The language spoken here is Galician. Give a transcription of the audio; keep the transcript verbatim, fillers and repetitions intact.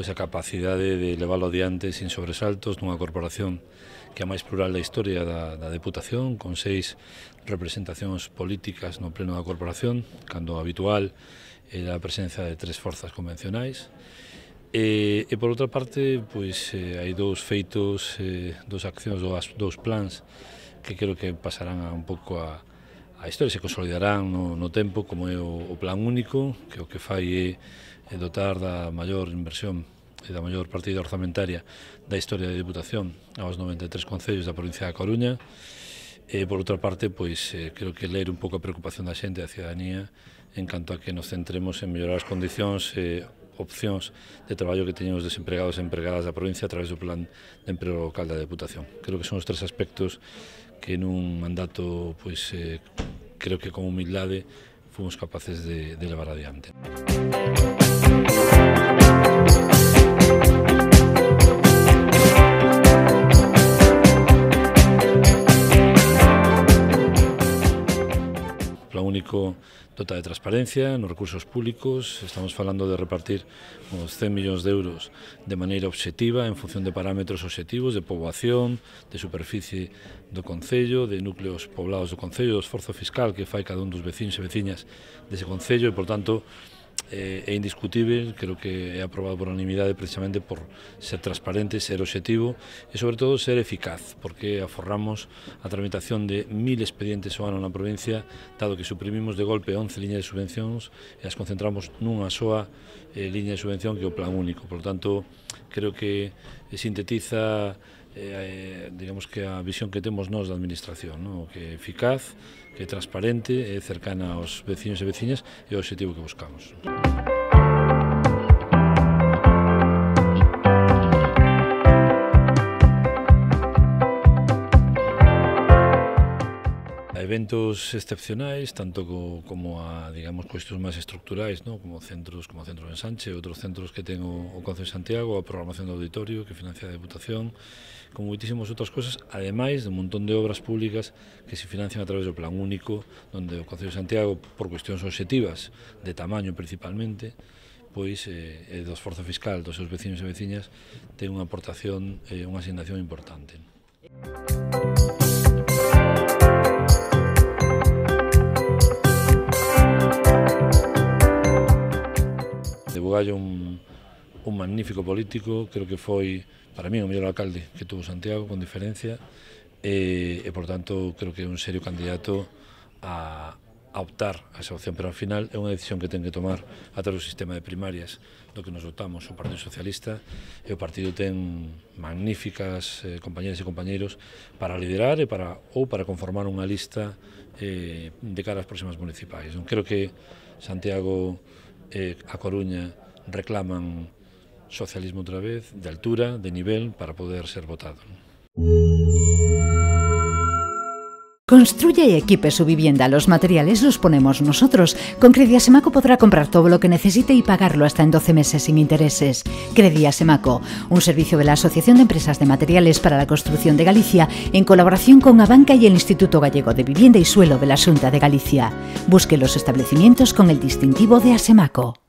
pois a capacidade de leválo adiante sin sobresaltos nunha corporación que é a máis plural da historia da, da Deputación, con seis representacións políticas no pleno da corporación, cando o habitual era a presencia de tres forzas convencionais. E, e por outra parte, pois, eh, hai dous feitos, eh, dous accións, dous, dous plans que creo que pasarán a un pouco a, a historia, se consolidarán no, no tempo, como é o, o plan único, que o que fai é, é dotar da maior inversión e da maior partida orzamentaria da historia da Deputación aos noventa e tres concellos da provincia da Coruña. E por outra parte, pois, eh, creo que ler un pouco a preocupación da xente, da ciudadanía, en canto a que nos centremos en mellorar as condicións e eh, opcións de traballo que teñen os desempregados e empregadas da provincia a través do plan de emprego local da Deputación. Creo que son os tres aspectos que nun mandato, pois, eh, creo que con humildade fomos capaces de, de levar adiante. Plan único dota de transparencia nos recursos públicos, estamos falando de repartir uns cen millóns de euros de maneira obxectiva en función de parámetros obxectivos de poboación, de superficie do concello, de núcleos poblados do concello, do esforzo fiscal que fai cada un dos veciños e veciñas dese concello e, por tanto, é indiscutível, creo que é aprobado por unanimidade precisamente por ser transparente, ser obxectivo e, sobre todo, ser eficaz, porque aforramos a tramitación de mil expedientes ao ano na provincia, dado que suprimimos de golpe once liñas de subvencións e as concentramos nunha soa eh, liña de subvención que é o plan único. Por lo tanto, creo que sintetiza eh, digamos que a visión que temos nós da administración, ¿no? Que é eficaz, que é transparente, é cercana aos veciños e veciñas e o obxectivo que buscamos. Eventos excepcionais, tanto co, como a, digamos, cuestións máis estructurais, ¿no? Como centros, como o Centro de Ensanche, outros centros que ten o, o Concello de Santiago, a programación do auditorio que financia a Deputación, como moitísimas outras cosas, ademais de un montón de obras públicas que se financian a través do plan único, onde o Concello de Santiago, por cuestións obxectivas, de tamaño principalmente, pois, eh, e do esforzo fiscal dos seus veciños e veciñas, ten unha aportación, eh, unha asignación importante. De Bugallo, un, un magnífico político, creo que foi, para mí, o mellor alcalde que tuvo Santiago, con diferencia, e, e por tanto, creo que é un serio candidato a, a optar a esa opción, pero ao final é unha decisión que ten que tomar a través do sistema de primarias do que nos votamos o Partido Socialista, e o partido ten magníficas eh, compañeras e compañeiros para liderar e para, ou para conformar unha lista eh, de cara ás próximas municipais. Non creo que Santiago e a Coruña reclaman socialismo outra vez, de altura, de nivel, para poder ser votado. Construya y equipe su vivienda. Los materiales los ponemos nosotros. Con Crediasemaco podrá comprar todo lo que necesite y pagarlo hasta en doce meses sin intereses. Crediasemaco, un servicio de la Asociación de Empresas de Materiales para la Construcción de Galicia, en colaboración con Abanca y el Instituto Gallego de Vivienda y Suelo de la Xunta de Galicia. Busque los establecimientos con el distintivo de Asemaco.